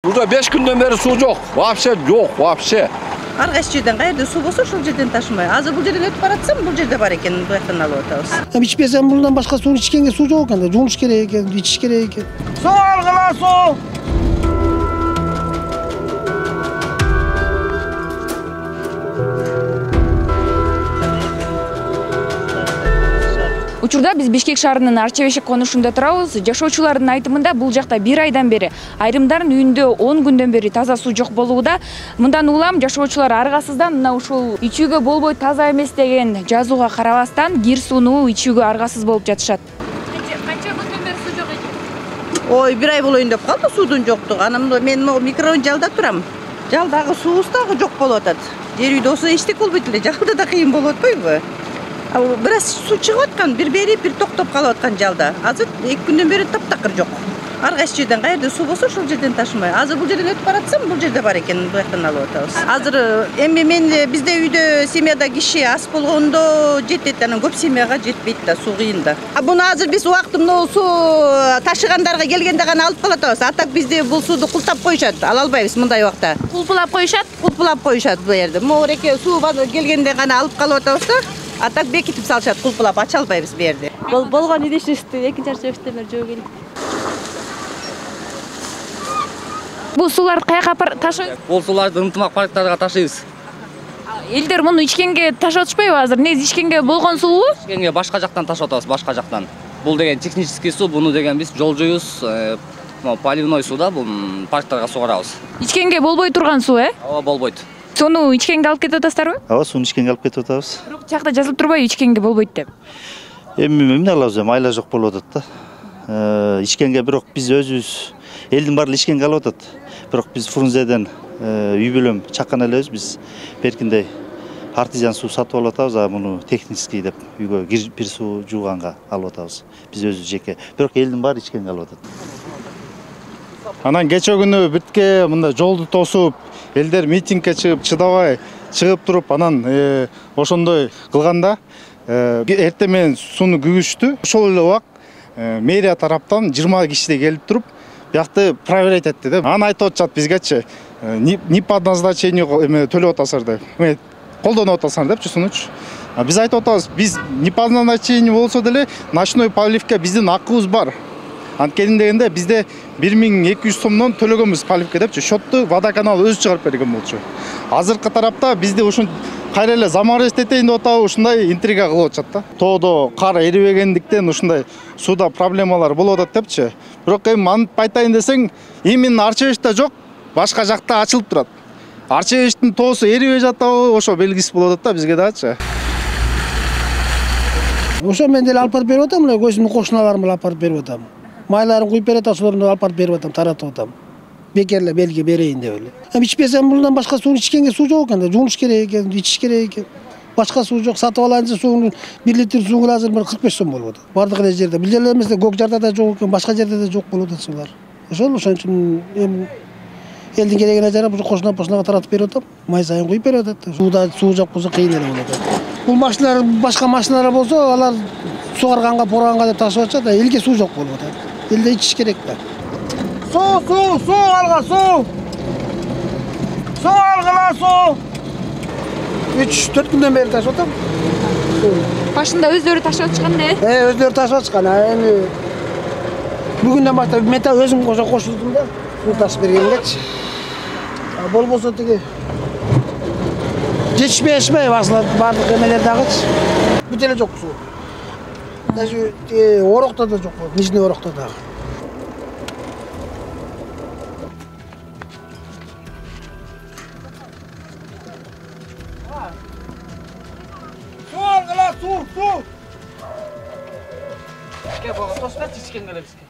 Burada 5 günden beri su yok. Вообще yok, вообще. Ар кайсы жерден каерде суу болсо ошол жерден ташымай. Азыр бул жерден өтүп баратсам, бул жерде бар экен, бул жактан алып атабыз. İçmesem bundan başka su içkenge su yok ekan. Жуунуш керек экен, ичиш керек экен. Суу алгыла суу. Учурда биз Бишкек шаарынын Арча-Бешик конушунда турабыз. Жашоочулардын айтымында бул жакта 1 айдан бери, айрымдардын үйүндө 10 күндөн бери таза суу жок болууда. Мындан улам жашоочулар аргасыздан мына ушул ичүүгө болбой таза эмес деген жазууга карабастан кир сууну ичүүгө аргасыз болуп жатышат. Канча күндөн бери суу жок экен? Ой, 1 ай болоюн деп калды суудун жоктугу. Анан мен микрорайон жалда турам. Жалдагы суубуз дагы жок болуп атат. Жер үйдө болсо эчтек болбойт эле, жалда да кыйын болуп атпайбы? Бир аз суу чыгып аткан, бир берип, бир токтоп калып аткан жалда. Азыр 2 күндөн бери таптакыр жок. Ар кайсы жерден каерде суу болсо ошол жерден ташымай. Азыр бул жерден өтүп баратсам, бул жерде бар экен, бул жактан алып атабыз. Азыр эми мен бизде үйдө семьяда киши аз болгондо жетет, анан көп семьяга жетпейт да, суу кыйын да. Буну азыр биз убактымда суу ташыгандарга келгенде гана алып кала атабыз. А так бизде бул сууду култап коюшат, ала албайбыз мындай убакта. Кулпулап коюшат? Кулпулап коюшат бул жерде. Могуреке суу келгенде гана алып калып атабыз да. А так бекитип салышат, кулпулап ача албайбыз бу жерде. Болгон идишибизди экинчи арчабекте бери жөө келип. Бул сууларды каяка ташыйбыз? Бул сууларды ынтымак парктарга ташыйбыз. Элдер муну ичкенге ташып атышпайбы азыр? Негизи ичкенге болгон суубу? Ичкенге башка жактан ташып атабыз, башка жактан. Бул деген технический суу, буну деген биз жолжойбуз, поливной суу да, бул парктарга сугарабыз. Ичкенге болбой турган суу, Ооба, болбойт. Сону ичкенге алып кетип атасыздарбы? Ооба, сууну ичкенге алып кетип атабыз. Бирок жакта жазылып турбайбы ичкенге болбойт деп? Эми эмне кылабыз, айла жок болуп атат да. Ичкенге бирок биз өзүбүз элдин баары ичкенге алып атат. Бирок биз Фрунзеден үй бүлөм чаккан элебиз, биз беркиндей артезиан суу сатып алып атабыз, а муну технический деп үйгө бир суу жууганга алып атабыз. Биз өзүбүз жеке. Бирок элдин баары ичкенге алып атат. Анан кече күнү битке мында жолду тосуп, элдер митингге чыгып, чыдабай чыгып туруп, анан ошондой кылганда эртең менен сууну күгүштү. Ошол эле убак мэрия тараптан 20 кишидей келип туруп, биякты проверять этти да. Анан айтып атышат бизгечи, не по назначению төлөп атасыздар деп. Колдонуп атасыңар депчи сунучу. Биз айтып атабыз, биз не по назначению болсо деле ночной поливке биздин акыбыз бар. Анткени дегенде бизде 1200 сомдон төлөгөнбүз поливке депчи. Счетту водоканал өзү чыгарып берген болчу. Азыркы тарапта бизде ушун кайра эле заманбап этейин деп атабы, ушундай интрига кылып атышат да. Тоодо кар эрибегендиктен ушундай сууда проблемалар болуп атат депчи. Бирок эми антип айтайын десең, именно Арча-Бешикте жок, башка жакта ачылып турат. Арча-Бешиктин тоосу эрибей жатабы, ошо белгиси болуп атат да бизге дагычы. Ошо мен деле алып барып берип атам, мына көзүмдүн кошуналарым алып барып берип атам. Майларын куюп берет, ошолорду алып барып берип атам, таратып атам. Бекерле белги берейин деп эле. Ичпесем bundan башка суу ичкенге суу жок экен, жуунуш керек экен, ичиш керек экен. Башка суу жок, сатып алайын десе сууну 1 литр сууга азыр 45 сом болуп атат. Бардык эле жерде. Бул жерде эмес, Көк Жарда да жок экен, башка жерде да жок болуп атат суулар. Ошол үчүн эми элдин керегине жарап, кошуна таратып берип атам. Май сайын куюп берип атат. Суу жок болсо кыйын эле болот. Бул машиналар, башка машиналар болсо, алар сугарганга, поранга деп ташып атышат, элге суу жок болуп атат. Элде ичиш керек да. Суу алга суу. Суу алгыла суу. 3-4 күндөн бери ташып атам. Башында өздөрү ташып атышкан да? Өздөрү ташып атышкан. Эми бүгүндөн баштап мен да өзүм кошулдум да, суу ташып бергенгечи. Болбосо тиги жетишпей басылат бардык эмелер дагычы. Бүт эле жок суу. Даже орокто да жок, нижний орокто дагы. Суу алгыла суу. Ичке бого тосуп берчи, ичкенге эле бизге.